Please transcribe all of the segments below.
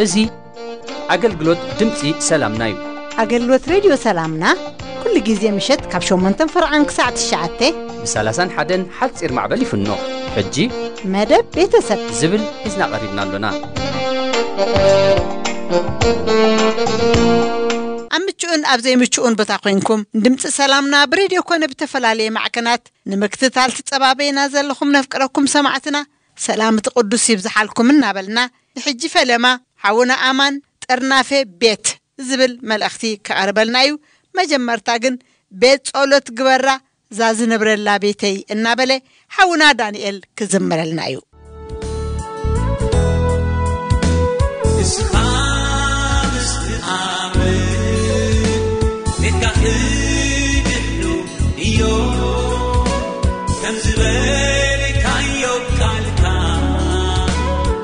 እዚ ኣገልግሎት ድምፂ ሰላምና እዩ። ኣገልግሎት ሬድዮ ሰላምና ኩሉ ግዜ ምሸት ካብ ሸሞንተን ፈርዓን ክሳዕ ትሽዓተ ብ30ን ሓደን ሓፂር ማዕበል ይፍኖ። ሕጂ መደብ ቤተሰብ ዝብል ሒዝና ቀሪብና ኣሎና። ኣብ ምቹእን ኣብ ዘይምቹእን ቦታ ኮይንኩም ድምፂ ሰላምና ብሬድዮ ኮነ ብተፈላለየ ማዕከናት ንምክትታል ትጸባበዩና ዘለኹም ነፍቅረኩም ሰማዕትና ሰላም እቲ ቅዱስ ይብዝሓልኩም እናበልና፣ ንሕጂ ፈለማ ሓውና ኣማን ጠርናፌ ቤት ዝብል መልእኽቲ ከቐርበልና እዩ። መጀመርታ ግን ቤት ጸሎት ግበራ እዛ ዝነብረላ ቤተይ እናበለ ሓውና ዳንኤል ክዝምረልና እዩ። እስኻ ምስ ትኣምን ቤትካ ክድሕኑ እዮ፣ ከም ዝበልካዮ ቃልካ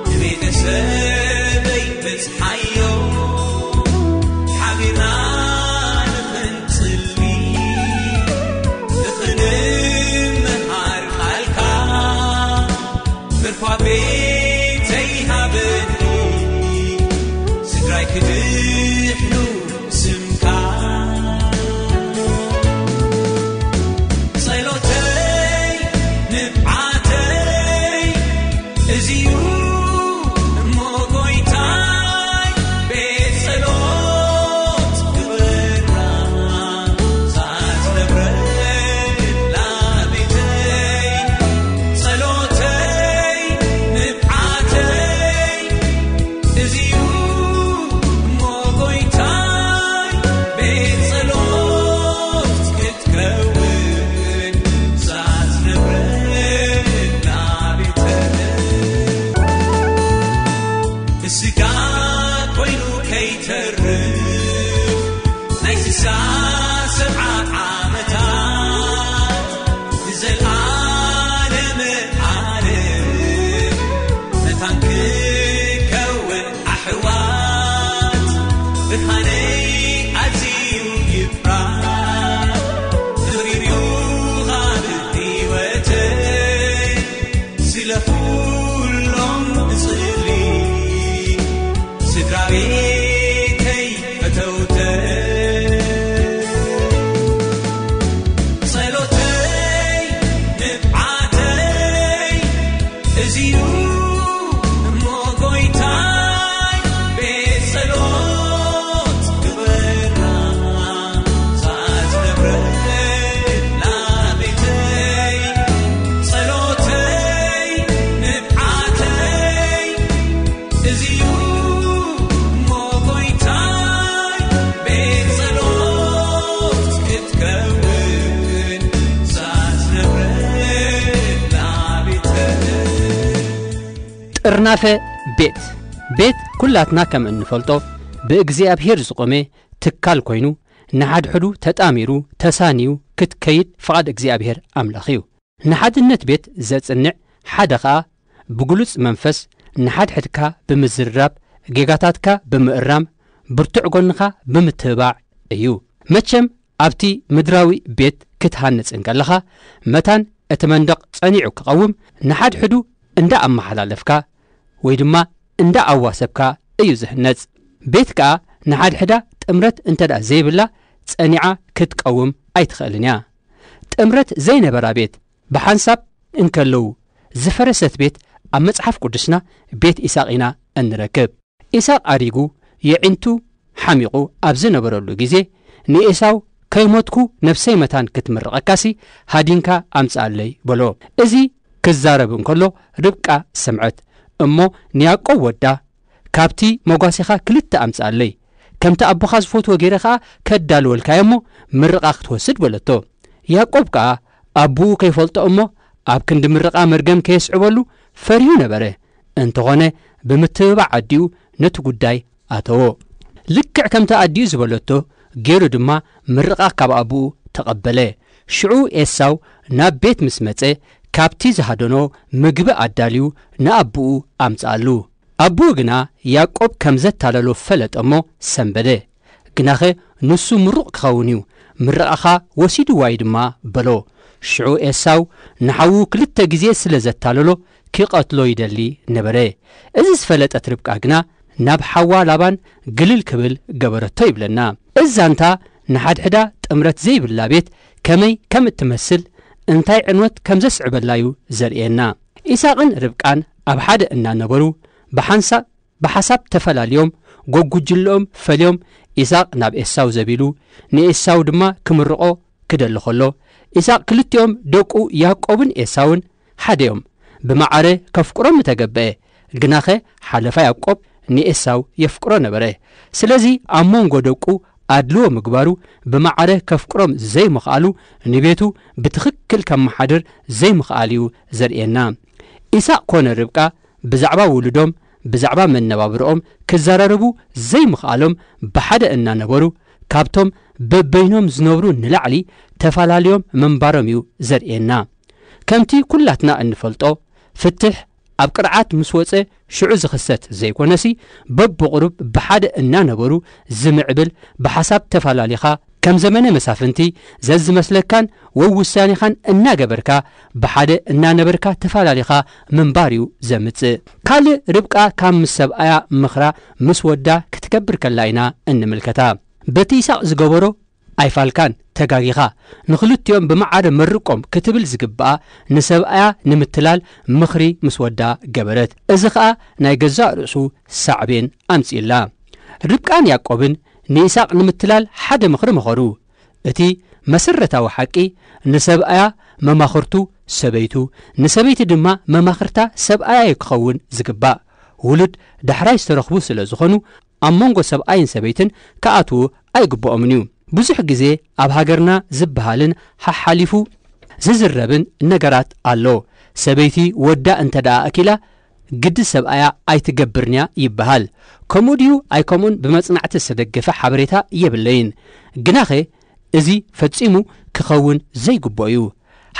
ንቤተሰበይ በጽሓዮ። ሓቢርና ንኽንጽሊ፣ ንኽንምሃር ቃልካ፣ ምርኳ ቤተይ ሃበኒ፣ ስድራይ ክድሕኑ ስምካ። ጸሎተይ ንብዓተይ እዚዩ እሞ ጎይታይ፣ ቤት ጸሎት ግበራ፣ ሳት ነብረላ ቤተይ። ጸሎተይ ንብዓተይ እዚዩ እሞ ጎይታይ፣ ቤት ጸሎት ክትከውን ሳት ነብረላ ቤተይ። ብስጋ ኮይኑ ከይተርፍ ናይ ስሳ ሰብዓ ዓመታት ንዘለዓለመ ዓለም መታን ክከውን ኣሕዋት። ብርሃነይ ኣዝዩ ይብራህ፣ ክብሪር እዩ ካብ ህይወተይ። ስለ ኩሎም እጽሊ ስድራ ቤተይ ፈተውተይ። ጸሎተይ ንብዓተይ እዚዩ እሞ ጎይታይ፣ ቤት ጸሎት ግበራ፣ ሳት ነብረላ ቤተይ። ጸሎተይ ንብዓተይ እዚዩ እሞ ጎይታይ፣ ቤት ጸሎት ክትከውን ሳት ነብረላ ቤተይ። ጥርናፈ ቤት። ቤት ኩላትና ከም እንፈልጦ ብእግዚኣብሔር ዝቖመ ትካል ኮይኑ፣ ንሓድሕዱ ተጣሚሩ ተሳንዩ ክትከይድ ፍቓድ እግዚኣብሔር ኣምላኽ እዩ። ንሓድነት ቤት ዘጽንዕ ሓደ ኸኣ ብግሉጽ መንፈስ ንሓድሕድካ ብምዝርራብ፣ ጌጋታትካ ብምእራም፣ ብርቱዕ ጎንኻ ብምትብባዕ እዩ። መቸም ኣብቲ ምድራዊ ቤት ክትሃንጽ እንከለኻ፣ መታን እቲ መንደቕ ጸኒዑ ክቐውም፣ ንሓድሕዱ እንዳ ኣመሓላለፍካ ወይ ድማ እንዳ ኣዋሰብካ እዩ ዝህነጽ። ቤት ከኣ ንሓድሕዳ ጥምረት እንተ ደኣ ዘይብላ፣ ጸኒዓ ክትቀውም ኣይትኽእልን እያ። ጥምረት ዘይነበራ ቤት ብሓንሳብ እንከለዉ ዝፈረሰት ቤት ኣብ መጽሓፍ ቅዱስና ቤት ኢሳቕ ኢና እንረክብ። ኢሳቕ ኣሪጉ የዒንቱ ሓሚቑ ኣብ ዝነበረሉ ግዜ ንኤሳው ከይሞትኩ ነፍሰይ መታን ክትምርቐካሲ ሃዲንካ ኣምጽኣለይ በሎ። እዚ ክዛረብ እንከሎ ርብቃ ሰምዐት እሞ ንያዕቆብ ወዳ ካብቲ መጓሴኻ ክልተ ኣምጽኣለይ፣ ከምቲ ኣቦኻ ዝፈትዎ ገይረ ኸኣ ከዳልወልካዮ እሞ ምርቓ ክትወስድ በለቶ። ያዕቆብ ከኣ ኣቦኡ ከይፈልጦ እሞ ኣብ ክንዲ ምርቓ መርገም ከየስዕበሉ ፈሪሁ ነበረ። እንተኾነ ብምትብባዕ ኣዲኡ ነቲ ጉዳይ ኣተዎ። ልክዕ ከምቲ ኣዲኡ ዝበለቶ ገይሩ ድማ ምርቓ ካብ ኣቦኡ ተቐበለ። ሽዑ ኤሳው ናብ ቤት ምስ መጸ ካብቲ ዝሃደኖ ምግቢ ኣዳልዩ ንኣቦኡ ኣምጽኣሉ። ኣቦኡ ግና ያዕቆብ ከም ዘታለሎ ፈለጠ እሞ ሰንበደ። ግናኸ ንሱ ምሩቕ ክኸውን እዩ፣ ምርቓኻ ወሲድዋ እዩ ድማ በሎ። ሽዑ ኤሳው ንሓዉ ክልተ ግዜ ስለ ዘታለሎ ክቐትሎ ይደሊ ነበረ። እዚ ዝፈለጠት ርብቃ ግና ናብ ሓዋ ላባን ግልል ክብል ገበረቶ ይብለና። እዚ ዛንታ ንሓድሕዳ ጥምረት ዘይብላ ቤት ከመይ ከም እትመስል፣ እንታይ ዕንወት ከም ዘስዕበላ እዩ ዘርእየና። ኢሳቕን ርብቃን ኣብ ሓደ እናነበሩ ብሓንሳእ ብሓሳብ ተፈላልዮም፣ ጎጉጅልኦም ፈልዮም፣ ኢሳቕ ናብ ኤሳው ዘቢሉ ንኤሳው ድማ ክምርቖ ክደሊ ከሎ፣ ኢሳቕ ክልቲኦም ደቁ ያዕቆብን ኤሳውን ሓደ እዮም። ብማዕረ ከፍቅሮም ምተገበአ፣ ግናኸ ሓለፋ ያዕቆብ ንኤሳው የፍቅሮ ነበረ። ስለዚ ኣብ መንጎ ደቁ ኣድልዎ ምግባሩ ብማዕረ ከፍቅሮም ዘይምኽኣሉ ንቤቱ ብትኽክል ከመሓድር ዘይምኽኣል እዩ ዘርእየና። ኢሳቕ ኮነ ርብቃ ብዛዕባ ውሉዶም፣ ብዛዕባ መነባብርኦም ክዘራረቡ ዘይምኽኣሎም ብሓደ እናነበሩ ካብቶም በበይኖም ዝነብሩ ንላዕሊ ተፈላለዮም ምንባሮም እዩ ዘርእየና። ከምቲ ኩላትና እንፈልጦ ፍትሕ ኣብ ቅርዓት ምስ ወጸ ሽዑ ዝኽሰት ዘይኮነሲ በብቕሩብ ብሓደ እናነበሩ ዝምዕብል ብሓሳብ ተፈላሊኻ ከም ዘመነ መሳፍንቲ ዘዝመስለካን ወውሳኔኻን እናገበርካ ብሓደ እናነበርካ ተፈላሊኻ ምንባር እዩ ዘምጽእ። ካልእ ርብቃ ካብ ምስ ሰብኣያ ምኽራ ምስ ወዳ ክትገብር ከላ ኢና እንምልከታ። በቲ ይስሐቅ ዝገበሮ ኣይፋልካን፣ ተጋጊኻ፣ ንኽልቲኦም ብመዓረ መርቆም ክትብል ዝግብኣ ንሰብኣያ ንምትላል ምኽሪ ምስ ወዳ ገበረት። እዚ ኸኣ ናይ ገዛእ ርእሱ ሳዕቤን ኣምጺእላ። ርብቃን ያዕቆብን ንይስሐቅ ንምትላል ሓደ ምኽሪ መኸሩ። እቲ መሰረታዊ ሓቂ ንሰብኣያ መማኽርቱ ሰበይቱ፣ ንሰበይቲ ድማ መማኽርታ ሰብኣያ እዩ ክኸውን ዝግባእ። ውሉድ ዳሕራይ ዝተረኽቡ ስለ ዝኾኑ ኣብ መንጎ ሰብኣይን ሰበይትን ክኣትዉ ኣይግብኦምን እዩ። ብዙሕ ግዜ ኣብ ሃገርና ዝበሃልን ሓሓሊፉ ዝዝረብን ነገራት ኣሎ። ሰበይቲ ወዳ እንተ ደኣ ኣኪላ ግዲ ሰብኣያ ኣይትገብርን እያ ይበሃል። ከምኡ ድዩ ኣይከምኡን ብመጽናዕቲ ዝተደገፈ ሓበሬታ የብለይን። ግናኸ እዚ ፈጺሙ ክኸውን ዘይግብኦ እዩ።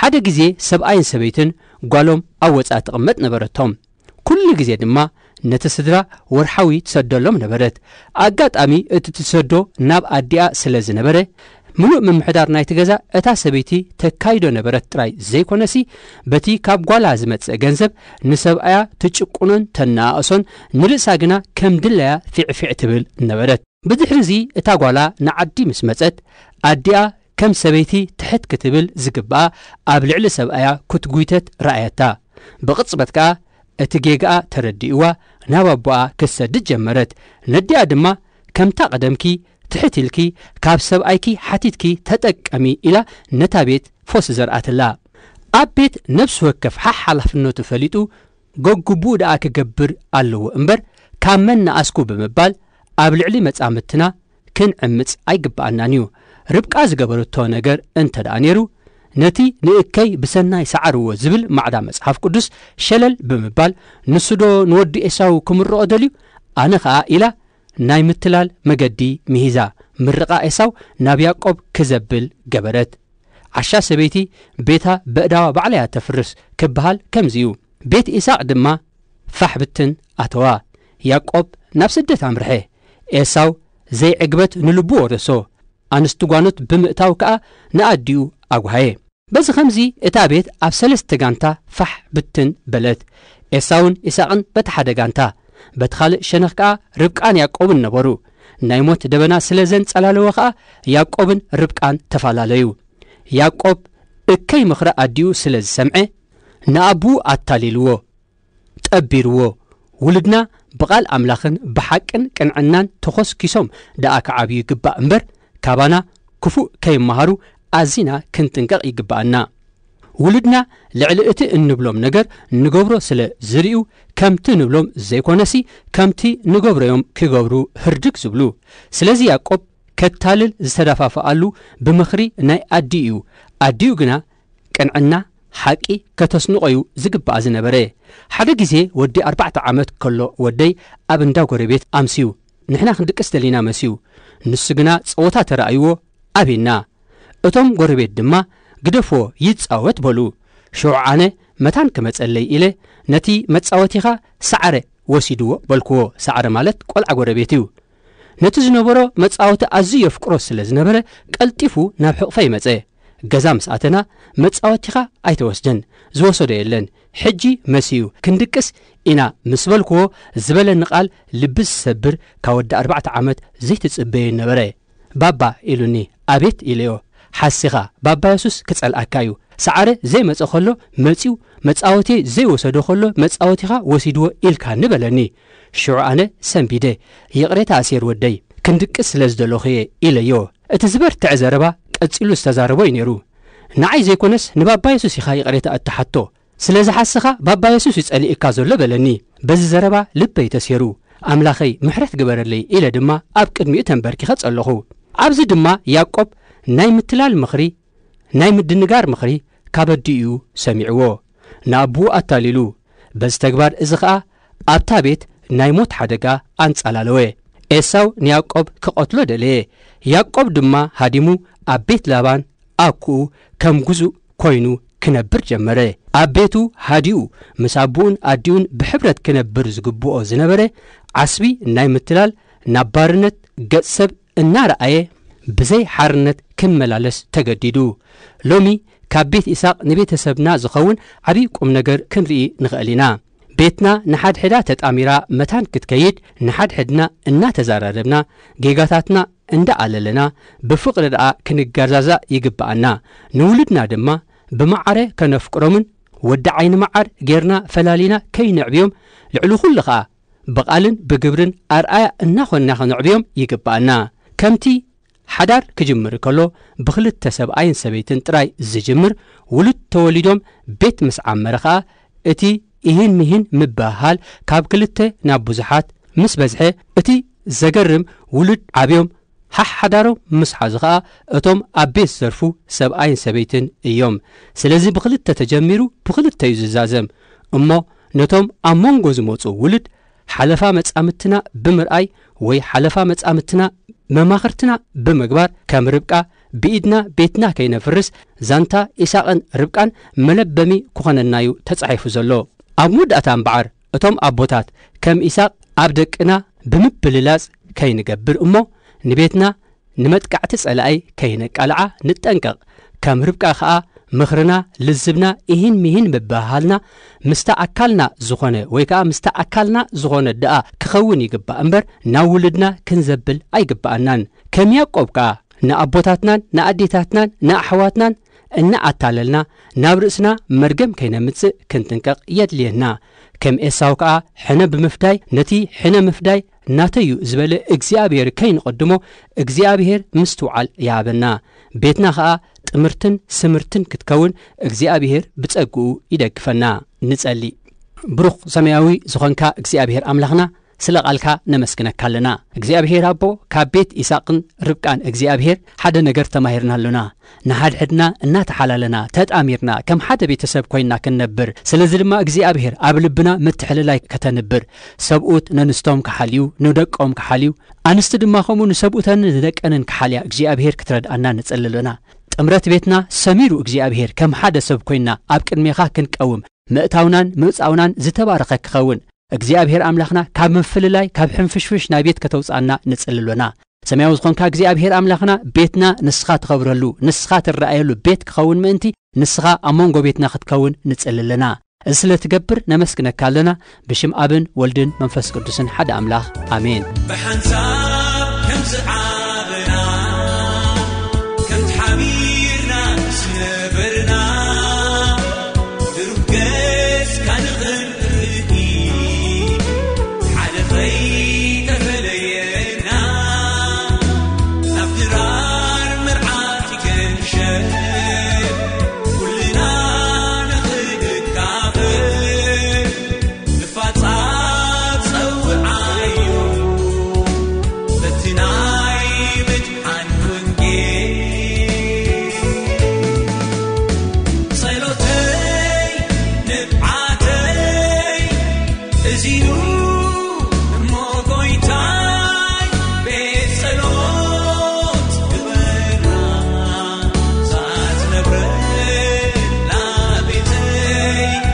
ሓደ ግዜ ሰብኣይን ሰበይትን ጓሎም ኣብ ወጻኢ ትቕመጥ ነበረቶም። ኩሉ ግዜ ድማ ነቲ ስድራ ወርሓዊ ትሰደሎም ነበረት። ኣጋጣሚ እቲ ትሰዶ ናብ ኣዲኣ ስለ ዝነበረ፣ ምሉእ ምምሕዳር ናይቲ ገዛ እታ ሰበይቲ ተካይዶ ነበረት ጥራይ ዘይኮነሲ፣ በቲ ካብ ጓላ ዝመጽእ ገንዘብ ንሰብኣያ ትጭቁኖን ተነኣእሶን፣ ንርእሳ ግና ከም ድላያ ፊዕፊዕ ትብል ነበረት። ብድሕሪዚ እታ ጓላ ንዓዲ ምስ መጸት፣ ኣዲኣ ከም ሰበይቲ ትሕት ክትብል ዝግብኣ ኣብ ልዕሊ ሰብኣያ ክትጉይተት ረኣየታ። ብቕጽበት ከኣ እቲ ጌጋኣ ተረዲእዋ ናብ ኣቦኣ ክትሰድድ ጀመረት። ነዲኣ ድማ፣ "ከምታ ቀደምኪ ትሕት ኢልኪ ካብ ሰብኣይኪ ሓቲትኪ ተጠቀሚ" ኢላ ነታ ቤት ፎስ ዘርኣትላ። ኣብ ቤት ነፍሲ ወከፍ ሓሓላፍነቱ ፈሊጡ ገግቡኡ ደኣ ክገብር ኣለዎ እምበር፣ ካብ መን ነኣስኩ ብምባል ኣብ ልዕሊ መጻምድትና ክንዕምጽ ኣይግብኣናን እዩ። ርብቃ ዝገበረቶ ነገር እንተ ደኣ ነይሩ፣ ነቲ ንእከይ ብሰናይ ሰዓርዎ ዝብል ማዕዳ መጽሓፍ ቅዱስ ሸለል ብምባል፣ ንሱ ዶ ንወዲ ኤሳው ክምርቖ ደልዩ? ኣነ ኸኣ ኢላ ናይ ምትላል መገዲ ምሂዛ፣ ምርቓ ኤሳው ናብ ያዕቆብ ክዘብል ገበረት። ዓሻ ሰበይቲ ቤታ በእዳዋ ባዕላ እያ ተፍርስ ክበሃል ከምዚ እዩ። ቤት ኢሳቅ ድማ ፋሕ ብትን ኣተዋ። ያዕቆብ ናብ ስደት ኣምርሐ። ኤሳው ዘይዕግበት ንልቡ ወረሶ። ኣንስቲ ጓኖት ብምእታው ከኣ ንኣዲኡ ኣጓሃየ። በዚ ኸምዚ እታ ቤት ኣብ ሰለስተ ጋንታ ፋሕ ብትን በለት። ኤሳውን ኢሳቅን በቲ ሓደ ጋንታ፣ በቲ ኻልእ ሸነኽ ከኣ ርብቃን ያዕቆብን ነበሩ። ናይ ሞት ደበና ስለ ዘንጸላለወ ኸኣ ያዕቆብን ርብቃን ተፈላለዩ። ያዕቆብ እከይ ምኽሪ ኣዲኡ ስለ ዝሰምዐ ንኣቦኡ ኣታሊልዎ፣ ጠቢርዎ። ውሉድና ብቓል ኣምላኽን ብሓቅን ቅንዕናን ተኾስኪሶም ደኣ ክዓብዩ ይግባእ እምበር፣ ካባና ክፉእ ከይመሃሩ ኣዚና ክንጥንቀቕ ይግብኣና። ውሉድና ልዕሊ እቲ እንብሎም ነገር ንገብሮ ስለ ዝርእዩ፣ ከምቲ ንብሎም ዘይኮነሲ ከምቲ ንገብሮዮም ክገብሩ ህርድግ ዝብሉ። ስለዚ ያዕቆብ ከታልል ዝተደፋፍኣሉ ብምኽሪ ናይ ኣዲኡ እዩ። ኣዲኡ ግና ቅንዕና ሓቂ ከተስንቖዩ ዝግባኣ ዝነበረ። ሓደ ግዜ ወዲ ኣርባዕተ ዓመት ከሎ ወደይ ኣብ እንዳ ጎረቤት ኣምስዩ። ንሕና ክንድቅስ ደሊና መስዩ። ንሱ ግና ጸወታ ተራእይዎ ኣቤና። እቶም ጎረቤት ድማ "ግደፎ ይጻወት" በሉ። ሽዑ ኣነ መታን ክመጸለይ ኢለ፣ ነቲ መጻወቲኻ ሰዓረ ወሲድዎ በልክዎ። ሰዓረ ማለት ቆልዓ ጎረቤት እዩ። ነቲ ዝነበሮ መጻወቲ ኣዝዩ የፍቅሮ ስለ ዝነበረ፣ ቀልጢፉ ናብ ሕቕፈይ መጸ። ገዛ ምስ ኣተና፣ "መጻወቲኻ ኣይተወስደን፣ ዝወሰዶ የለን፣ ሕጂ መሲዩ፣ ክንድቅስ ኢና" ምስ በልክዎ፣ ዝበለኒ ቃል ልቢ ዝሰብር፣ ካብ ወዲ ኣርባዕተ ዓመት ዘይትጽበዮ ነበረ። "ባባ" ኢሉኒ። "ኣቤት" ኢለዮ። "ሓሲኻ፣ ባባ የሱስ ክጸልኣካ እዩ። ሰዓረ ዘይመጸ ከሎ መጺኡ፣ መጻወቲ ዘይወሰዶ ከሎ መጻወቲኻ ወሲድዎ ኢልካኒ" በለኒ። ሽዑ ኣነ ሰንቢደ፣ "ይቕሬታ ኣሴር ወደይ፣ ክንድቅስ ስለ ዝደለኹ እየ" ኢለዮ። እቲ ዝበርትዐ ዘረባ ቀጺሉ ዝተዛረቦ እዩ ነይሩ። "ንዓይ ዘይኮነስ ንባባ የሱስ ኢኻ ይቕሬታ እትሓቶ። ስለ ዝሓስኻ ባባ የሱስ እዩ ጸሊእካ ዘሎ" በለኒ። በዚ ዘረባ ልበይ ተሴሩ። "ኣምላኸይ ምሕረት ግበረለይ" ኢለ ድማ ኣብ ቅድሚኡ ተንበርኪኸ ጸለኹ። ኣብዚ ድማ ያዕቆብ ናይ ምትላል ምኽሪ፣ ናይ ምድንጋር ምኽሪ ካብ ኣዲኡ ሰሚዕዎ። ንኣቦኡ ኣታሊሉ። በዚ ተግባር እዚ ኸኣ ኣብታ ቤት ናይ ሞት ሓደጋ ኣንጻላለወ። ኤሳው ንያዕቆብ ክቐትሎ ደለየ። ያዕቆብ ድማ ሃዲሙ ኣብ ቤት ላባን ኣኩኡ ከም ግዙእ ኮይኑ ክነብር ጀመረ። ኣብ ቤቱ ሃዲኡ ምስ ኣቦኡን ኣዲኡን ብሕብረት ክነብር ዝግብኦ ዝነበረ ዓስቢ ናይ ምትላል፣ ናብ ባርነት ገጽ ሰብ እናረኣየ ብዘይ ሓርነት ክመላለስ ተገዲዱ። ሎሚ ካብ ቤት ኢሳቕ ንቤተሰብና ዝኸውን ዓብዪ ቁም ነገር ክንርኢ ንኽእል ኢና። ቤትና ንሓድሕዳ ተጣሚራ መታን ክትከይድ፣ ንሓድሕድና እናተዛራረብና፣ ጌጋታትና እንዳኣለለና፣ ብፍቕሪ ደኣ ክንገዛዛእ ይግብኣና። ንውሉድና ድማ ብማዕረ ከነፍቅሮምን ወዲ ዓይኒ መዓር ጌርና ፈላሊና ከይነዕብዮም፣ ልዕሊ ኩሉ ኸኣ ብቓልን ብግብርን ኣርኣያ እናኾንና ከነዕብዮም ይግብኣና። ከምቲ ሓዳር ክጅምር ከሎ ብኽልተ ሰብኣይን ሰበይትን ጥራይ ዝጅምር፣ ውሉድ ተወሊዶም ቤት ምስ ዓመረ ኸኣ፣ እቲ ኢሂን ሚሂን ምብህሃል ካብ ክልተ ናብ ብዙሓት ምስ በዝሐ፣ እቲ ዘገርም፣ ውሉድ ዓብዮም ሓሕ ሓዳሮም ምስ ሓዙ ኸኣ፣ እቶም ኣብ ቤት ዝሰርፉ ሰብኣይን ሰበይትን እዮም። ስለዚ ብኽልተ ተጀሚሩ ብኽልተ እዩ ዝዛዘም። እሞ ነቶም ኣብ መንጎ ዝመጹ ውሉድ፣ ሓለፋ መጻምትና ብምርኣይ ወይ ሓለፋ መጻምትና መማኽርትና ብምግባር፣ ከም ርብቃ ብኢድና ቤትና ከይነፍርስ፣ ዛንታ ኢሳቕን ርብቃን መለበሚ ክኾነና እዩ ተጻሒፉ ዘሎ። ኣብ መወዳእታ እምበኣር፣ እቶም ኣቦታት ከም ኢሳቕ ኣብ ደቅና ብምብልላጽ ከይንገብር እሞ፣ ንቤትና ንመጥቃዕቲ ጸላኢ ከይነቃልዓ ንጠንቀቕ። ከም ርብቃ ኸኣ ምኽርና፣ ልዝብና፣ ኢሂን ሚሂን ምብህሃልና ምስታ ኣካልና ዝኾነ ወይ ከኣ ምስታ ኣካልና ዝኾነ ደኣ ክኸውን ይግባእ እምበር፣ ናብ ውሉድና ክንዘብል ኣይግብኣናን። ከም ያዕቆብ ከኣ ንኣቦታትናን ንኣዴታትናን ንኣሕዋትናን እናኣታለልና ናብ ርእስና መርገም ከይነምጽእ ክንጥንቀቕ የድልየና። ከም ኤሳው ከኣ ሕነ ብምፍዳይ፣ ነቲ ሕነ ምፍዳይ ናተይ እዩ ዝበለ እግዚኣብሔር ከይንቐድሞ፣ እግዚኣብሔር ምስትውዓል ይሃበና። ቤትና ኸኣ ጥምርትን ስምርትን ክትከውን እግዚኣብሔር ብጸግኡ ይደግፈና። ንጸሊ። ብሩኽ ሰማያዊ ዝኾንካ እግዚኣብሔር ኣምላኽና፣ ስለ ቃልካ ነመስግነካ ኣለና። እግዚኣብሔር ኣቦ፣ ካብ ቤት ኢሳቅን ርብቃን እግዚኣብሔር ሓደ ነገር ተማሂርና ኣሎና። ንሓድሕድና እናተሓላለና፣ ተጣሚርና፣ ከም ሓደ ቤተሰብ ኮይንና ክንነብር። ስለዚ ድማ እግዚኣብሔር ኣብ ልብና ምትሕልላይ ከተንብር፣ ሰብኡት ነንስቶም ክሓልዩ፣ ንደቆም ክሓልዩ፣ ኣንስቲ ድማ ከምኡ ንሰብኡተንን ንደቀንን ክሓልያ እግዚኣብሔር ክትረድኣና ንጽሊ ኣሎና። ጥምረት ቤትና ሰሚሩ እግዚኣብሔር ከም ሓደ ሰብ ኮይንና ኣብ ቅድሜኻ ክንቀውም፣ ምእታውናን ምውጻውናን ዝተባረኸ ክኸውን፣ እግዚኣብሔር ኣምላኽና ካብ ምፍልላይ፣ ካብ ሕንፍሽፍሽ ናይ ቤት ከተውጽኣና ንጽሊ ኣሎና። ሰማያዊ ዝኾንካ እግዚኣብሔር ኣምላኽና፣ ቤትና ንስኻ ትኸብረሉ፣ ንስኻ ትረኣየሉ ቤት ክኸውን ምእንቲ፣ ንስኻ ኣብ መንጎ ቤትና ክትከውን ንጽሊ ኣለና። እዚ ስለ ትገብር ነመስግነካ ኣለና። ብሽም ኣብን ወልድን መንፈስ ቅዱስን ሓደ ኣምላኽ፣ ኣሜን። ብሓንሳብ ከም ዝዓበና፣ ከም ተሓቢርና ዝነበርና፣ ብሩህ ገጽካ ንኽንርኢ፣ ሓደ ኸይተፈለየና፣ ናብ ድራር መርዓት ይገንሸ፣ ኩልና ንኽንካፈል፣ ንፋጻ ጸውዓዮ፣ በቲ ናይ ምድሓን ወንጌል። ጸሎተይ ንብዓተይ እዚዩ እሞ ጎይታይ፣ ቤት ጸሎት ግበራ፣ ሳትነብረላ ቤተይ።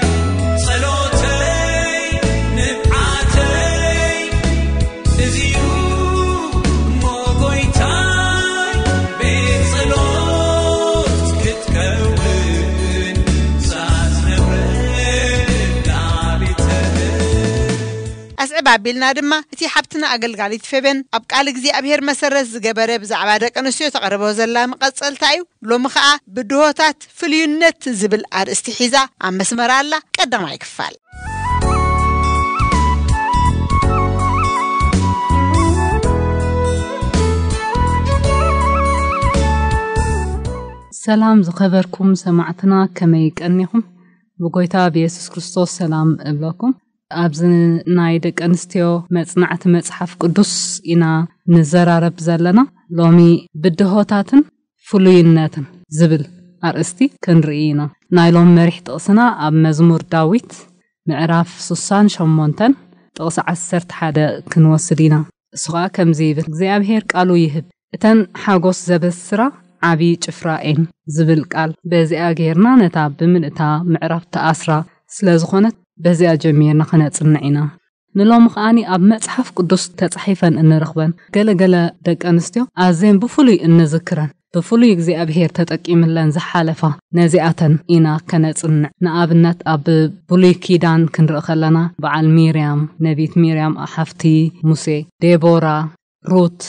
ዕብ ኣቢልና ድማ እቲ ሓብትና ኣገልጋሊት ፌበን ኣብ ቃል እግዚኣብሔር መሰረት ዝገበረ ብዛዕባ ደቂ ኣንስትዮ ተቕርቦ ዘላ መቐጸልታ እዩ። ሎሚ ኸኣ ብድሆታት ፍልዩነት ዝብል ኣርእስቲ ሒዛ ኣብ መስመር ኣላ። ቀዳማይ ክፋል። ሰላም ዝኸበርኩም ሰማዕትና፣ ከመይ ቀኒኹም? ብጎይታ ብየሱስ ክርስቶስ ሰላም እብለኩም። ኣብዚ ናይ ደቂ ኣንስትዮ መጽናዕቲ መጽሓፍ ቅዱስ ኢና ንዘራረብ ዘለና። ሎሚ ብድሆታትን ፍሉይነትን ዝብል ኣርእስቲ ክንርኢ ኢና። ናይ ሎም መሪሕ ጥቕስና ኣብ መዝሙር ዳዊት ምዕራፍ ስሳን ሸሞንተን ጥቕሲ ዓሰርተ ሓደ ክንወስድ ኢና። እሱ ኸኣ ከምዚ ይብል፣ እግዚኣብሔር ቃሉ ይህብ፣ እተን ሓጎስ ዘበስራ ዓቢ ጭፍራ እየን ዝብል ቃል። በዚኣ ጌርና ነታ ብምልእታ ምዕራፍ ተኣስራ ስለ ዝኾነት በዚኣ ጀሚርና ከነጽንዕ ኢና። ንሎሚ ከኣኒ ኣብ መጽሓፍ ቅዱስ ተጻሒፈን እንረኽበን ገለ ገለ ደቂ ኣንስትዮ ኣዝየን ብፍሉይ እንዝክረን፣ ብፍሉይ እግዚኣብሔር ተጠቂምለን ዝሓለፋ ነዚኣተን ኢና ከነጽንዕ። ንኣብነት ኣብ ብሉይ ኪዳን ክንርኢ ከለና በዓል ሚርያም፣ ነቢት ሚርያም ሓፍቲ ሙሴ፣ ዴቦራ፣ ሩት፣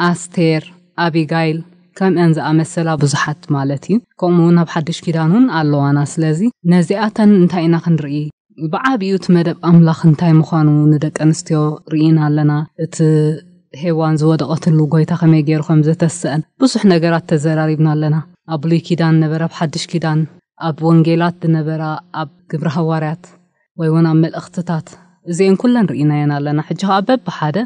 ኣስቴር፣ ኣቢጋይል ከምአን ዝኣመሰላ ብዙሓት ማለት እዩ። ከምኡ እውን ኣብ ሓድሽ ኪዳን እውን ኣለዋና። ስለዚ ነዚኣተን እንታይ ኢና ክንርኢ? ብዓቢኡ እቲ መደብ ኣምላኽ እንታይ ምዃኑ ንደቂ ኣንስትዮ ርኢና ኣለና። እቲ ሄዋን ዝወደቐትሉ ጎይታ ከመይ ገይሩ ከም ዘተስአን ብዙሕ ነገራት ተዘራሪብና ኣለና። ኣብ ብሉይ ኪዳን ነበረ፣ ኣብ ሓድሽ ኪዳን፣ ኣብ ወንጌላት ዝነበራ፣ ኣብ ግብረ ሃዋርያት ወይ እውን ኣብ መልእኽትታት፣ እዚአን ኩለን ርኢናየን ኣለና። ሕጂ ኸኣ በብሓደ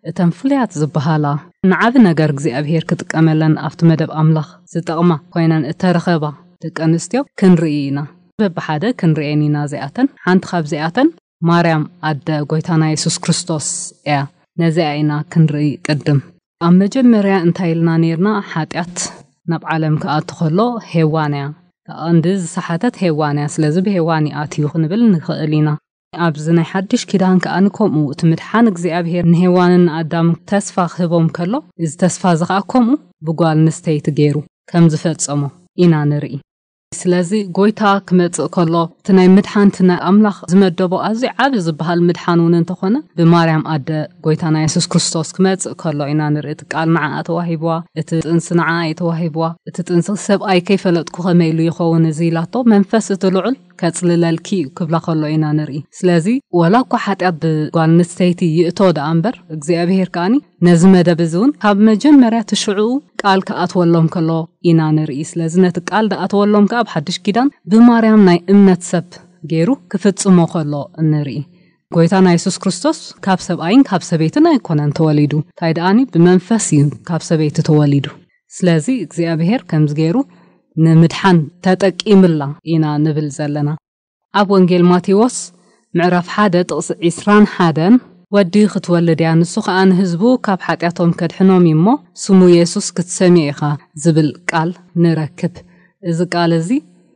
እተን ፍሉያት ዝበሃላ ንዓቢ ነገር እግዚኣብሔር ክጥቀመለን ኣብቲ መደብ ኣምላኽ ዝጠቕማ ኮይነን እተረኸባ ደቂ ኣንስትዮ ክንርኢ ኢና። በብሓደ ክንርእየን ኢና እዚኣተን። ሓንቲ ካብዚኣተን ማርያም ኣደ ጎይታና የሱስ ክርስቶስ እያ። ነዚኣ ኢና ክንርኢ ቅድም። ኣብ መጀመርያ እንታይ ኢልና ኔርና? ሓጢኣት ናብ ዓለም ክኣቱ ከሎ ሄዋን እያ። እታ ቀንዲ ዝሰሓተት ሄዋን እያ። ስለዚ ብሄዋን እዩ ኣትዩ ክንብል ንኽእል ኢና። ኣብዚ ናይ ሓድሽ ኪዳን ከኣ ንከምኡ እቲ ምድሓን እግዚኣብሔር ንሄዋንን ንኣዳም ተስፋ ክህቦም ከሎ፣ እዚ ተስፋ እዚ ከኣ ከምኡ ብጓል ኣንስተይቲ ገይሩ ከም ዝፈጸሞ ኢና ንርኢ። ስለዚ ጎይታ ክመጽእ ከሎ፣ እቲ ናይ ምድሓን፣ እቲ ናይ ኣምላኽ ዝመደቦ ኣዝዩ ዓቢ ዝበሃል ምድሓን እውን እንተኾነ፣ ብማርያም ኣደ ጎይታና የሱስ ክርስቶስ ክመጽእ ከሎ ኢና ንርኢ። እቲ ቃል ንዓኣ ተዋሂብዋ፣ እቲ ጥንሲ ንዓኣ እዩ ተዋሂብዋ። እቲ ጥንሲ ሰብኣይ ከይፈለጥኩ ከመይ ኢሉ ይኸውን እዚ ኢላቶ፣ መንፈስ እቲ ልዑል ከጽልለልኪ እዩ ክብላ ከሎ ኢና ንርኢ። ስለዚ ወላ እኳ ሓጢኣት ብጓል ኣንስተይቲ ይእቶ ደኣ እምበር፣ እግዚኣብሔር ከኣኒ ነዚ መደብ እዚ እውን ካብ መጀመርያ እቲ ሽዑኡ ቃል ክኣትወሎም ከሎ ኢና ንርኢ። ስለዚ ነቲ ቃል ዝኣተወሎም ከኣ ኣብ ሓድሽ ኪዳን ብማርያም ናይ እምነት ሰብ ገይሩ ክፍጽሞ ከሎ ንርኢ። ጎይታና የሱስ ክርስቶስ ካብ ሰብኣይን ካብ ሰበይትን ኣይኮነን ተወሊዱ። እንታይ ደኣኒ ብመንፈስ እዩ ካብ ሰበይቲ ተወሊዱ። ስለዚ እግዚኣብሔር ከምዚ ገይሩ ንምድሓን ተጠቂምላ ኢና ንብል ዘለና። ኣብ ወንጌል ማቴዎስ ምዕራፍ ሓደ ጥቕሲ ዕስራን ሓደን፣ "ወዲ ክትወልድ እያ፣ ንሱ ኸኣ ንህዝቡ ካብ ሓጢኣቶም ከድሕኖም እዩ እሞ፣ ስሙ የሱስ ክትሰምዮ ኢኻ" ዝብል ቃል ንረክብ። እዚ ቃል እዚ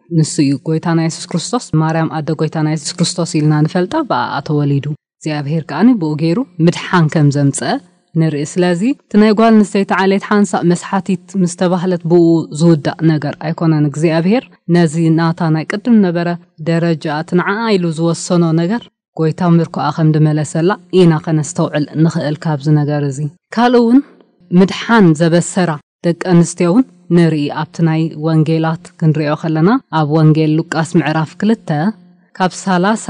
ንሱ እዩ፣ ጎይታና የሱስ ክርስቶስ። ማርያም ኣደ ጎይታና የሱስ ክርስቶስ ኢልና ንፈልጣ፣ ብኣኣ ተወሊዱ። እግዚኣብሔር ከኣ ብኡ ገይሩ ምድሓን ከም ዘምጸ ንርኢ። ስለዚ እቲ ናይ ጓል ኣንስተይቲ ዓሌት ሓንሳእ መስሓቲት ምስ ተባህለት ብኡ ዝውዳእ ነገር ኣይኮነን። እግዚኣብሔር ነዚ ናታ ናይ ቅድም ነበረ ደረጃ፣ እቲ ንዓኣ ኢሉ ዝወሰኖ ነገር፣ ጎይታ ምርኮኣ ከም ዝመለሰላ ኢና ከነስተውዕል ንኽእል ካብዚ ነገር እዚ። ካልእ እውን ምድሓን ዘበሰራ ደቂ ኣንስትዮ እውን ንርኢ። ኣብቲ ናይ ወንጌላት ክንሪኦ ከለና፣ ኣብ ወንጌል ሉቃስ ምዕራፍ ክልተ ካብ ሰላሳ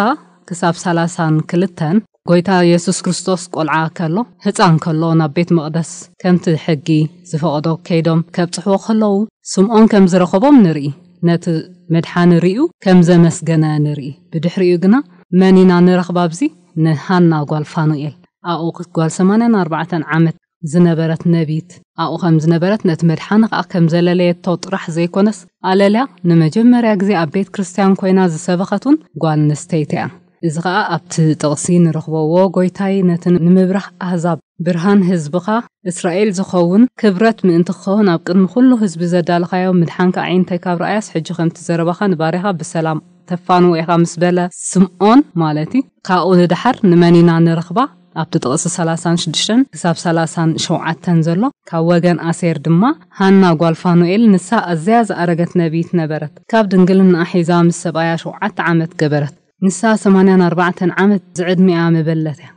ክሳብ ሰላሳን ክልተን፣ ጎይታ የሱስ ክርስቶስ ቆልዓ ከሎ፣ ህጻን ከሎ ናብ ቤት መቕደስ ከምቲ ሕጊ ዝፈቕዶ ከይዶም ከብጽሕዎ ከለዉ፣ ስምዖን ከም ዝረኸቦም ንርኢ። ነቲ መድሓኒ ርእዩ ከም ዘመስገነ ንርኢ። ብድሕሪኡ ግና መን ኢና ንረኽባ ኣብዚ? ንሃና ጓል ፋኑኤል። ኣብኡ ጓል ሰማንያን ኣርባዕተን ዓመት ዝነበረት ነቢት ኣብኡ ከም ዝነበረት፣ ነቲ መድሓኒ ከኣ ከም ዘለለየቶ ጥራሕ ዘይኮነስ፣ ኣለልያ ንመጀመርያ ግዜ ኣብ ቤት ክርስትያን ኮይና ዝሰበኸት እውን ጓል ኣንስተይቲ እያ። እዚ ከኣ ኣብቲ ጥቕሲ ንረኽቦ፣ "ዎ ጎይታይ፣ ነቲ ንምብራህ ኣህዛብ ብርሃን ህዝብኻ እስራኤል ዝኸውን ክብረት ምእንቲ ክኸውን ኣብ ቅድሚ ኩሉ ህዝቢ ዘዳለኻዮ ምድሓንካ ኣዒንተይ ካብ ረኣያስ፣ ሕጂ ከምቲ ዘረባኻ ንባርያኻ ብሰላም ተፋንዎ ኢኻ" ምስ በለ፣ ስምዖን ማለት እዩ። ካብኡ ንደሓር ንመን ኢና ንረኽባ? ኣብቲ ጥቕሲ ሰላሳን ሽዱሽተን ክሳብ ሰላሳን ሸውዓተን ዘሎ፣ ካብ ወገን ኣሴር ድማ ሃና ጓል ፋኑኤል፣ ንሳ ኣዝያ ዝኣረገት ነቢይት ነበረት። ካብ ድንግልናኣ ሒዛ ምስ ሰብኣያ ሸውዓተ ዓመት ገበረት። ንሳ ሰማንያን ኣርባዕተን ዓመት ዝዕድሚኣ መበለት እያ።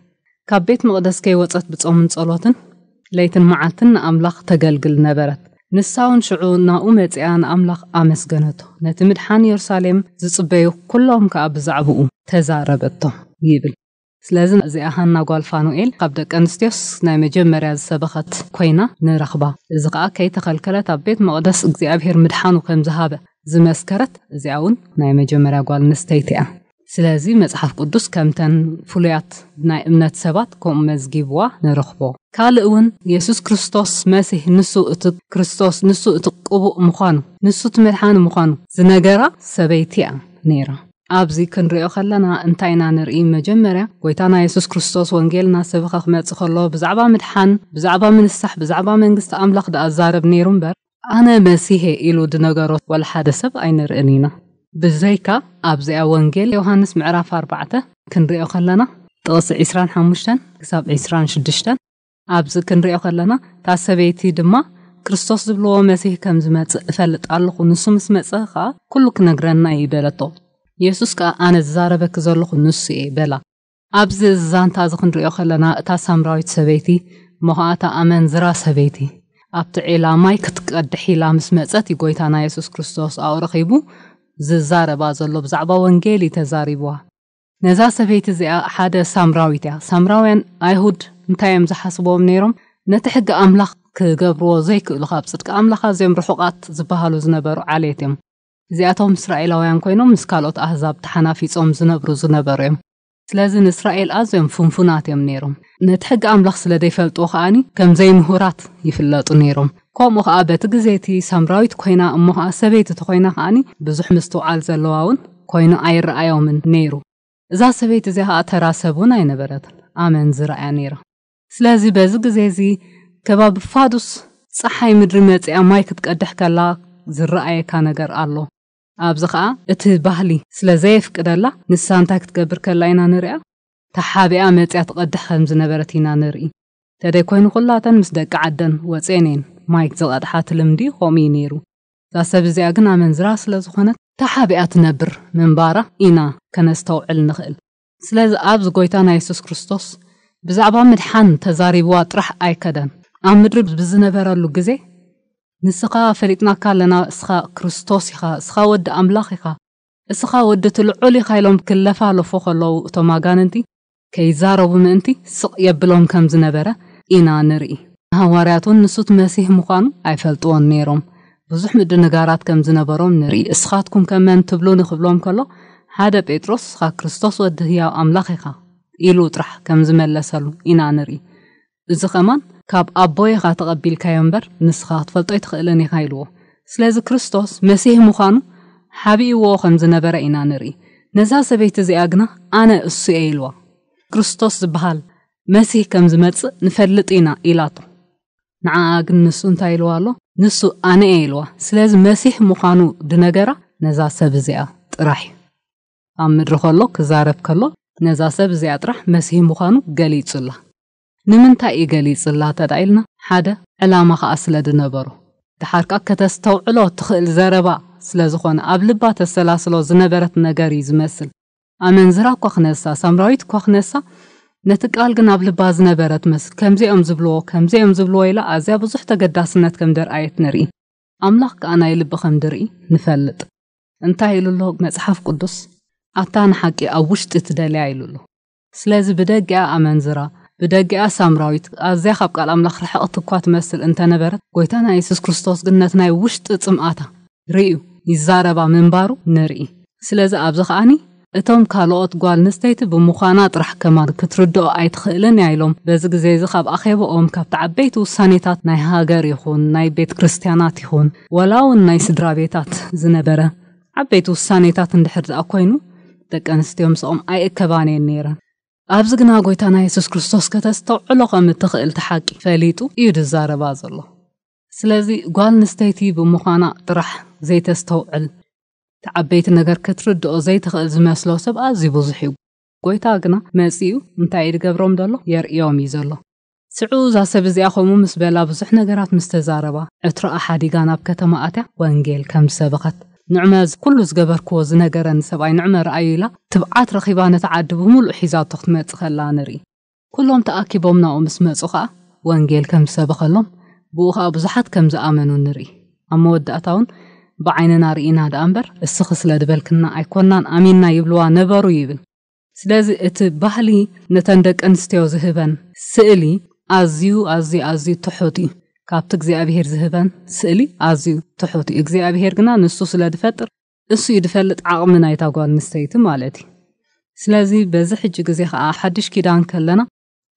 ካብ ቤት መቕደስ ከይወጸት ብጾምን ጸሎትን ለይትን መዓልትን ንኣምላኽ ተገልግል ነበረት። ንሳ እውን ሽዑ ናብኡ መጺኣ ንኣምላኽ ኣመስገነቶ። ነቲ ምድሓን የሩሳሌም ዝጽበዩ ኩሎም ከኣ ብዛዕባኡ ተዛረበቶ ይብል። ስለዚ እዚኣ ሃና ጓል ፋኑኤል ካብ ደቂ ኣንስትዮስ ናይ መጀመርያ ዝሰበኸት ኮይና ንረኽባ። እዚ ከኣ ከይተኸልከለት ኣብ ቤት መቕደስ እግዚኣብሔር ምድሓኑ ከም ዝሃበ ዝመስከረት እዚኣ እውን ናይ መጀመርያ ጓል ኣንስተይቲ እያ። ስለዚ መጽሓፍ ቅዱስ ከምተን ፍሉያት ናይ እምነት ሰባት ከምኡ መዝጊብዋ ንረኽቦ። ካልእ እውን የሱስ ክርስቶስ መሲህ፣ ንሱ እቲ ክርስቶስ፣ ንሱ እቲ ቅቡእ ምዃኑ፣ ንሱ እቲ መድሓኒ ምዃኑ ዝነገራ ሰበይቲ እያ ነይራ። ኣብዚ ክንሪኦ ከለና እንታይ ኢና ንርኢ? መጀመርያ ጎይታና የሱስ ክርስቶስ ወንጌል እናሰበኸ ክመጽእ ከሎ ብዛዕባ ምድሓን፣ ብዛዕባ ምንሳሕ፣ ብዛዕባ መንግስቲ ኣምላኽ ደኣ ዛረብ ነይሩ እምበር፣ ኣነ መሲሄ ኢሉ ድነገሮ ወላ ሓደ ሰብ ኣይንርእን ኢና። ብዘይካ ኣብዚኣ ወንጌል ዮሃንስ ምዕራፍ ኣርባዕተ ክንሪኦ ከለና ጥቕሲ ዕስራን ሓሙሽተን ክሳብ ዕስራን ሽዱሽተን ኣብዚ ክንሪኦ ከለና እታ ሰበይቲ ድማ ክርስቶስ ዝብልዎ መሲህ ከም ዝመጽእ እፈልጥ ኣለኹ፣ ንሱ ምስ መጸ ኸኣ ኩሉ ክነግረና እዩ በለቶ። የሱስ ከኣ ኣነ ዝዛረበኪ ዘለኹ ንሱ እየ በላ። ኣብዚ ዛንታ እዚ ክንሪኦ ከለና እታ ሳምራዊት ሰበይቲ እሞ ኸኣ እታ ኣመንዝራ ሰበይቲ ኣብቲ ዒላ ማይ ክትቀድሕ ኢላ ምስ መጸት እዩ ጎይታና የሱስ ክርስቶስ ኣብኡ ረኺቡ ዝዛረባ ዘሎ ብዛዕባ ወንጌል እዩ ተዛሪብዋ። ነዛ ሰበይቲ እዚኣ ሓደ ሳምራዊት እያ። ሳምራውያን ኣይሁድ እንታይ እዮም ዝሓስብዎም ነይሮም? ነቲ ሕጊ ኣምላኽ ክገብርዎ ዘይክእሉ ካብ ጽድቂ ኣምላኽ ኣዝዮም ርሑቓት ዝበሃሉ ዝነበሩ ዓሌት እዮም። እዚኣቶም እስራኤላውያን ኮይኖም ምስ ካልኦት ኣህዛብ ተሓናፊጾም ዝነብሩ ዝነበሩ እዮም። ስለዚ ንእስራኤል ኣዝዮም ፍንፉናት እዮም ነይሮም። ነቲ ሕጊ ኣምላኽ ስለ ዘይፈልጥዎ ከኣኒ ከም ዘይምሁራት ይፍለጡ ነይሮም። ከምኡ ከኣ በቲ ግዜ እቲ ሳምራዊት ኮይና እሞ ከኣ ሰበይቲ ተኮይና ከኣኒ ብዙሕ ምስትውዓል ዘለዋ እውን ኮይኑ ኣይረኣዮምን ነይሩ። እዛ ሰበይቲ እዚኣ ከኣ ተራ ሰብ እውን ኣይነበረትን፣ ኣመንዝራ እያ ነይራ። ስለዚ በዚ ግዜ እዚ ከባቢ ፋዱስ ጸሓይ ምድሪ መጺኣ ማይ ክትቀድሕ ከላ ዝረኣየካ ነገር ኣሎ። ኣብዚ ከኣ እቲ ባህሊ ስለ ዘየፍቅደላ ንሳ እንታይ ክትገብር ከላ ኢና ንሪኣ? ተሓቢኣ መጺኣ ትቐድሕ ከም ዝነበረት ኢና ንርኢ። ተደይ ኮይኑ ኩላተን ምስ ደቂ ዓደን ወጺኤን እየን ማይ ዝቐድሓ፣ እቲ ልምዲ ከምኡ እዩ ነይሩ። እዛ ሰብ እዚኣ ግን ኣመንዝራ ስለ ዝኾነት ተሓቢኣ ትነብር ምንባራ ኢና ከነስተውዕል ንኽእል። ስለዚ ኣብዚ ጎይታና የሱስ ክርስቶስ ብዛዕባ ምድሓን ተዛሪብዋ ጥራሕ ኣይከደን። ኣብ ምድሪ ብዝነበረሉ ግዜ ንስኻ ፈሊጥናካ ኣለና፣ እስኻ ክርስቶስ ኢኻ፣ እስኻ ወዲ ኣምላኽ ኢኻ፣ እስኻ ወዲ እቲ ልዑል ኢኻ ኢሎም ክለፋለፉ ከለዉ እቶም ኣጋንንቲ ከይዛረቡ ምእንቲ ስቕ የብሎም ከም ዝነበረ ኢና ንርኢ። ንሃዋርያት እውን ንሱ እቲ መሲህ ምዃኑ ኣይፈልጥዎን ነይሮም። ብዙሕ ምድንጋራት ከም ዝነበሮም ንርኢ። እስኻትኩም ከ መን ትብሉኒ ክብሎም ከሎ ሓደ ጴጥሮስ እስኻ ክርስቶስ ወዲ ህያው ኣምላኽ ኢኻ ኢሉ ጥራሕ ከም ዝመለሰሉ ኢና ንርኢ። እዚ ኸማን ካብ ኣቦይ ኢኻ ተቐቢልካዮ እምበር ንስኻ ክትፈልጦ ኣይትኽእልን ኢኻ ኢልዎ። ስለዚ ክርስቶስ መሲህ ምዃኑ ሓቢእዎ ከም ዝነበረ ኢና ንርኢ። ነዛ ሰበይቲ እዚኣ ግና ኣነ እሱ እየ ኢልዋ። ክርስቶስ ዝበሃል መሲህ ከም ዝመጽእ ንፈልጥ ኢና ኢላቶ። ንዓኣ ግን ንሱ እንታይ ኢልዋ ኣሎ? ንሱ ኣነ እየ ኢልዋ። ስለዚ መሲህ ምዃኑ ድነገራ ነዛ ሰብ እዚኣ ጥራሕ እዩ። ኣብ ምድሪ ከሎ ክዛረብ ከሎ ነዛ ሰብ እዚኣ ጥራሕ መሲህ ምዃኑ ገሊጹላ። ንምንታይ እዩ ገሊጽላ ተዳ ኢልና ሓደ ዕላማ ከኣ ስለ ድነበሮ። ድሓር ከኣ ከተስተውዕሎ ትኽእል ዘረባ ስለ ዝኾነ ኣብ ልባ ተሰላስሎ ዝነበረት ነገር እዩ ዝመስል። ኣመንዝራ እኳ ክነሳ፣ ሳምራዊት እኳ ክነሳ፣ ነቲ ቃል ግን ኣብ ልባ ዝነበረ ትመስል። ከምዚኦም ዝብልዎ፣ ከምዚኦም ዝብልዎ ኢላ ኣዝያ ብዙሕ ተገዳስነት ከም ደርኣየት ንርኢ። ኣምላኽ ከኣ ናይ ልቢ ከም ድርኢ ንፈልጥ። እንታይ ኢሉ ኣሎ መጽሓፍ ቅዱስ? ኣታ ንሓቂ ኣብ ውሽጢ ትደልያ ኢሉ ኣሎ። ስለዚ ብደጊኣ ኣመንዝራ፣ ብደጊኣ ሳምራዊት፣ ኣዝያ ካብ ቃል ኣምላኽ ርሕቕቲ እኳ ትመስል እንተነበረት፣ ጎይታና የሱስ ክርስቶስ ግን ነቲ ናይ ውሽጢ ጽምኣታ ርእዩ ይዛረባ ምንባሩ ንርኢ። ስለዚ ኣብዚ ከኣኒ እቶም ካልኦት ጓል ኣንስተይቲ ብምዃና ጥራሕ ከማን ክትርድኦ ኣይትኽእልን እያ ኢሎም በዚ ግዜ እዚ ካብ ኣኼባኦም ካብቲ ዓበይቲ ውሳኔታት ናይ ሃገር ይኹን ናይ ቤት ክርስቲያናት ይኹን ወላ እውን ናይ ስድራ ቤታት ዝነበረ ዓበይቲ ውሳኔታት እንድሕር ደኣ ኮይኑ ደቂ ኣንስትዮ ምስኦም ኣይእከባን እየን ነይረን። ኣብዚ ግና ጎይታና የሱስ ክርስቶስ ከተስተውዕሎ ከም እትኽእል እቲ ሓቂ ፈሊጡ እዩ ዝዛረባ ዘሎ። ስለዚ ጓል ኣንስተይቲ ብምዃና ጥራሕ ዘይተስተውዕል እቲ ዓበይቲ ነገር ክትርድኦ ዘይትኽእል ዝመስሎ ሰብ ኣዝዩ ብዙሕ እዩ። ጎይታ ግና መጺኡ እንታይ እዩ ዝገብሮም ዘሎ? የርእዮም እዩ ዘሎ። ሽዑ እዛ ሰብ እዚኣ ከምኡ ምስ በላ ብዙሕ ነገራት ምስ ተዛረባ ዕትሮኣ ሓዲጋ ናብ ከተማ ኣትያ ወንጌል ከም ዝሰበኸት ንዕመ ኩሉ ዝገበርክዎ ዝነገረኒ ሰብኣይ ንዕመ ረኣዩ ኢላ ትብዓት ረኺባ ነቲ ዓዲ ብምሉእ ሒዛቶ ክትመጽእ ከላ ንርኢ። ኩሎም ተኣኪቦም ናብኡ ምስ መጹ ኸኣ ወንጌል ከም ዝሰበኸሎም፣ ብኡ ኸኣ ብዙሓት ከም ዝኣመኑ ንርኢ። ኣብ መወዳእታ እውን ብዓይንና ርኢና ደኣ እምበር፣ እስኺ ስለ ዝበልክና ኣይኮናን ኣሚንና ይብልዋ ነበሩ ይብል። ስለዚ እቲ ባህሊ ነተን ደቂ ኣንስትዮ ዝህበን ስእሊ ኣዝዩ፣ ኣዝዩ፣ ኣዝዩ ትሑት እዩ። ካብቲ እግዚኣብሄር ዝህበን ስእሊ ኣዝዩ ትሑት እዩ። እግዚኣብሄር ግና ንሱ ስለ ዝፈጥር፣ እሱ እዩ ዝፈልጥ ዓቕሚ ናይታ ጓል ኣንስተይቲ ማለት እዩ። ስለዚ በዚ ሕጂ ግዜ ኸኣ ሓድሽ ኪዳን ከለና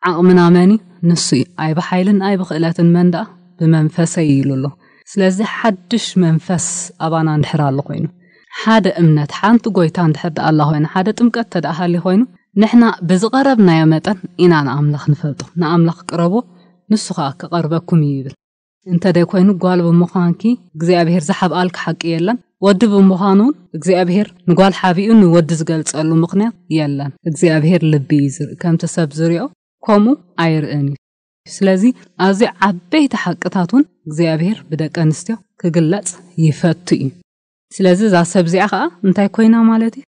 ዓቕምና መን እዩ? ንሱ እዩ። ኣይ ብሓይልን ኣይ ብኽእለትን መን ደኣ? ብመንፈሰይ ኢሉ ኣሎ። ስለዚ ሓድሽ መንፈስ ኣባና እንድሕር ኣሎ ኮይኑ፣ ሓደ እምነት፣ ሓንቲ ጎይታ እንድሕር ደኣ ኣላ ኮይና፣ ሓደ ጥምቀት ተደኣ ሃልዩ ኮይኑ፣ ንሕና ብዝቐረብናዮ መጠን ኢና ንኣምላኽ ንፈልጦ። ንኣምላኽ ቅረብዎ፣ ንሱ ኸኣ ክቐርበኩም እዩ ይብል። እንተ ደይ ኮይኑ፣ ጓል ብምዃንኪ እግዚኣብሄር ዝሓብኣልኪ ሓቂ የለን። ወዲ ብምዃኑ እውን እግዚኣብሄር ንጓል ሓቢኡ ንወዲ ዝገልጸሉ ምኽንያት የለን። እግዚኣብሄር ልቢ እዩ ዝርኢ፣ ከምቲ ሰብ ዝሪኦ ከምኡ ኣይርእን እዩ። ስለዚ ኣብዚ ዓበይቲ ሓቅታት እውን እግዚኣብሄር ብደቂ ኣንስትዮ ክግለጽ ይፈቱ እዩ። ስለዚ እዛ ሰብ እዚኣ ኸኣ እንታይ ኮይና ማለት እዩ?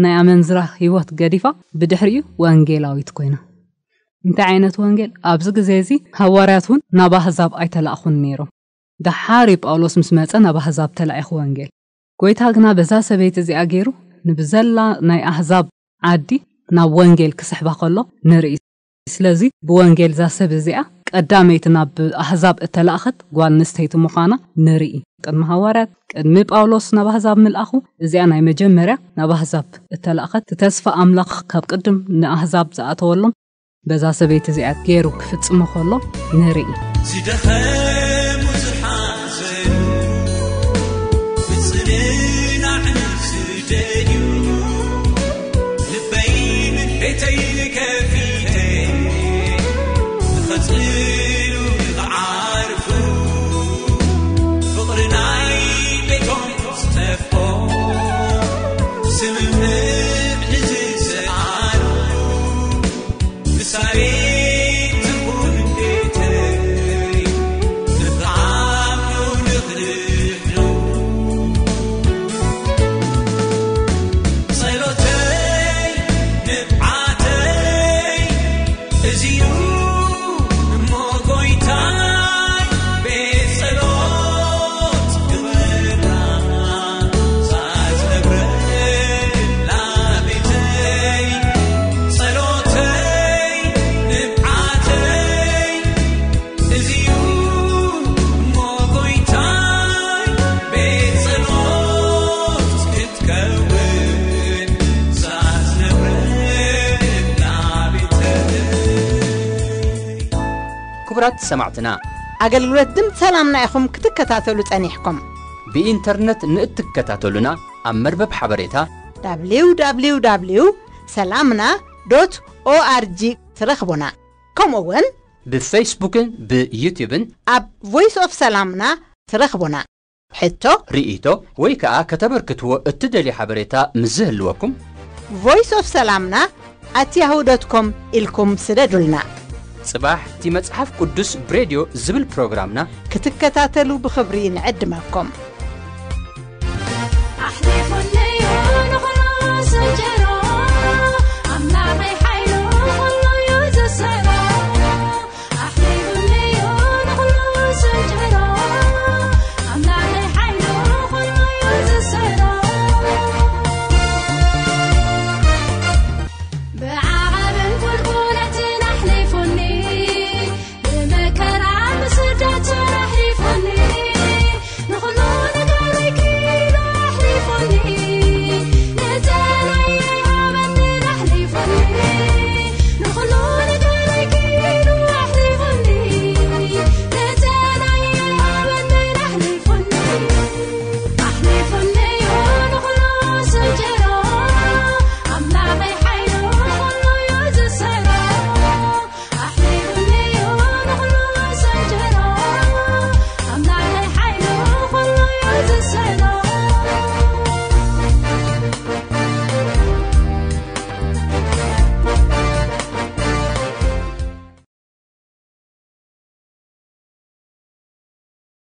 ናይ ኣመንዝራ ህይወት ገዲፋ ብድሕሪኡ ወንጌላዊት ኮይና። እንታይ ዓይነት ወንጌል? ኣብዚ ግዜ እዚ ሃዋርያት እውን ናብ ኣህዛብ ኣይተላእኹን ነይሮም። ደሓር እዩ ጳውሎስ ምስ መጸ ናብ ኣህዛብ ተላኢኹ ወንጌል። ጎይታ ግና በዛ ሰበይቲ እዚኣ ገይሩ ንብዘላ ናይ ኣህዛብ ዓዲ ናብ ወንጌል ክስሕባ ከሎ ንርኢ። ስለዚ ብወንጌል እዛ ሰብ እዚኣ ቀዳመይቲ ናብ ኣህዛብ እተላእኸት ጓል ኣንስተይቲ ምዃና ንርኢ። ቅድሚ ሃዋርያት፣ ቅድሚ ጳውሎስ ናብ ኣህዛብ ምልኣኹ፣ እዚኣ ናይ መጀመርያ ናብ ኣህዛብ እተላእኸት፣ እቲ ተስፋ ኣምላኽ ካብ ቅድም ንኣህዛብ ዝኣተወሎም በዛ ሰበይቲ እዚኣ ገይሩ ክፍጽሞ ከሎ ንርኢ። ዝደኸሙ ዝሓዘኑ ብጽንናዕ ዝደልዩ ልበይን ቤተይ ከፊተ ንኸጽልሉ ንኽዓርፉ ፍቕሪ ናይ ቤቶም ዝጠፍኦ ስምምዕ ንዝሰኣኑ ምሳሌ ትኹን ቤተይ ንኽዓኑ ንኽድሕኑ ጸሎተይ ንብዓተይ እዚዩ እሞ ጎይታይ ቤት ጸሎት ግበራ ሳዝነብረላ ቤተይ ጸሎተይ ንብዓተይ እዚዩ እሞ ጎይታይ ቤት ጸሎት ክትከውን ሳዝነብረላ ቤተይ። ክቡራት ሰማዕትና፣ ኣገልግሎት ድምፂ ሰላምና ኢኹም ክትከታተሉ ጸኒሕኩም። ብኢንተርነት ንእትከታተሉና ኣብ መርበብ ሓበሬታ www ሰላምና ዶት ኦኣርጂ ትረኽቡና። ከምኡ እውን ብፌስቡክን ብዩትዩብን ኣብ ቮይስ ኦፍ ሰላምና ትረኽቡና። ሕቶ፣ ርኢቶ ወይ ከኣ ከተበርክትዎ እትደልዩ ሓበሬታ ምስ ዝህልወኩም ቮይስ ኦፍ ሰላምና ኣት ያሁ ዶት ኮም ኢልኩም ስደዱልና። ጽባሕ እቲ መጽሓፍ ቅዱስ ብሬድዮ ዝብል ፕሮግራምና ክትከታተሉ ብኽብሪ ንዕድመኩም።